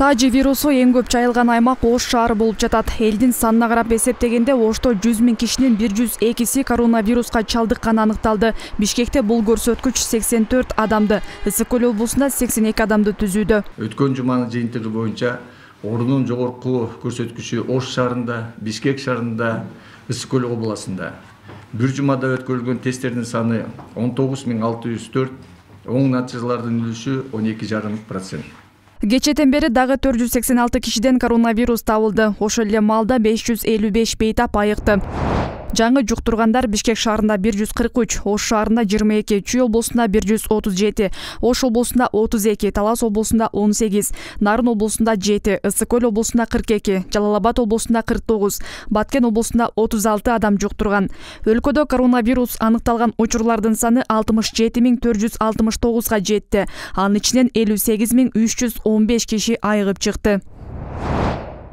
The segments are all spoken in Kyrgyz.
Тажи вирусу эң көп жайылган аймак Ош шаары болуп жатат. Элдин санына карап эсептегенде Ошто 100 000 кишинин 102си коронавируска чалдыкканы аныкталды. Бишкекте бул көрсөткүч 84 адамды, Ысык-Көл облусунда 82 адамды түзүүдө. Өткөн жуманын жыйынтыгы боюнча оорунун жогорку көрсөткүчү Ош шаарында, Бишкек шаарында, Ысык-Көл областында. Бир жумада өткөрүлгөн тесттердин саны 19604, оң натыйжалардын үлүшү 12,5%. Кечэтен бери дагы 486 кишиден коронавирус табылды. Ошол эле маалда 555 бейтап айыкты. Жаңы жуктургандар Бишкек шаарында 143, Ош шаарында 22, Чүй облусунда 137, Ош облусунда 32, Талас облусунда 18, Нарын облусунда 7, Ысык-Көл облусунда 42, Жалал Абад облусунда 49, Баткен облусунда 36 адам жуктурган. Өлкөдө коронавирус аныкталган учурлардын саны 67469 жетти. Анын ичинен 58315 киши айыгып чыкты.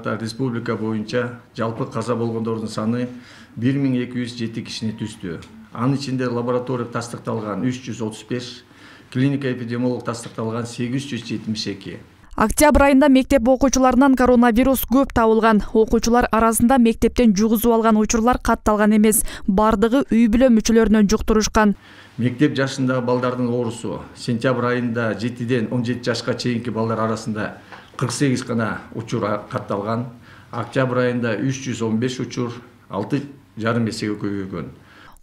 Республика боюнча жалпы каза болгондордун саны 1207 кишини түздү. Анын ичинде лаборатория тастыкталган 335, клиника эпидемиолог тастыкталган 872. Октябрь айында мектеп окуучуларынан коронавирус көп табылган. Окуучулар арасында мектептен жугузуп алган учурлар катталган эмес. Бардыгы үй бүлө мүчөлөрүнөн жуктурушкан. Мектеп жашындагы балдардын оорусу сентябрь айында 7ден 17 жашка чейинки балдар арасында 48 гана учур катталган. Октябрь айында 315 учур 6,5 эсеге көбөйгөн.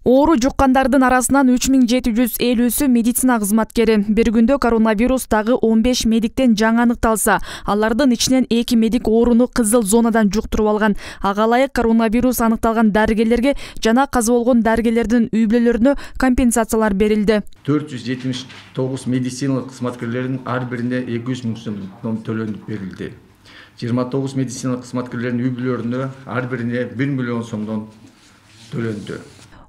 Оору жуккандардын арасынан 3750сү медицина кызматкери. Бир күндө коронавирус дагы 15 медиктен жаңы аныкталса, алардын ичинен 2 медик ооруну кызыл зонадан жуктуруп алган. Ага ылайык коронавирус аныкталган дарыгерлерге жана каза болгон дарыгерлердин үй бүлөлөрүнө компенсациялар берилди. 479 медициналык кызматкерлердин ар бирине 200 000 сом төлөнүп берилди. 29 медициналык кызматкерлердин үй бүлөлөрүнө ар бирине 1 миллион сомдон төлөндү.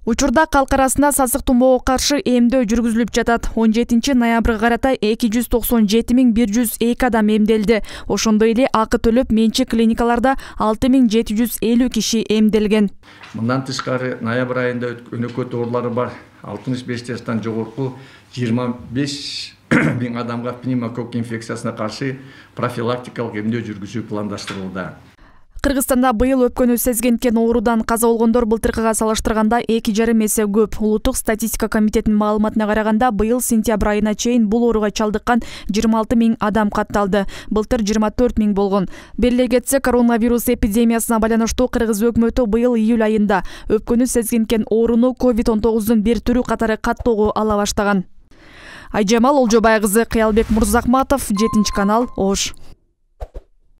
Учурда калк арасында сасык тумоого каршы эмдөө жүргүзүлүп жатат. 17 ноябрга карата 297 102 адам эмделди. Ошондой эле акы төлөп менчик клиникаларда 6750 киши эмделген. Мындан тышкары ноябрь айында өнөкөт оорулары бар 65 жаштан жогорку 25 000 адамга пневмококк инфекциясына каршы профилактикалык эмдөө жүргүзүү пландаштырылды. Кыргызстанда быйыл өпкөнү сезгенткен оорудан каза болгондор былтыркыга салыштырганда 2,5 эсе көп. Улуттук статистика комитетинин маалыматына караганда, быйыл сентябрь айына чейин бул ооруга чалдыккан 26 000 адам катталды. Былтыр 24 000 болгон. Белгилей кетсек, коронавирус эпидемиясына байланыштуу Кыргыз өкмөтү быйыл июль айында өпкөнү сезгенткен ооруну COVID-19 бир түрү катары каттоого ала баштаган. Айжамал Олжобай кызы, Кыялбек Мурзахматов, 7 канал, Ош.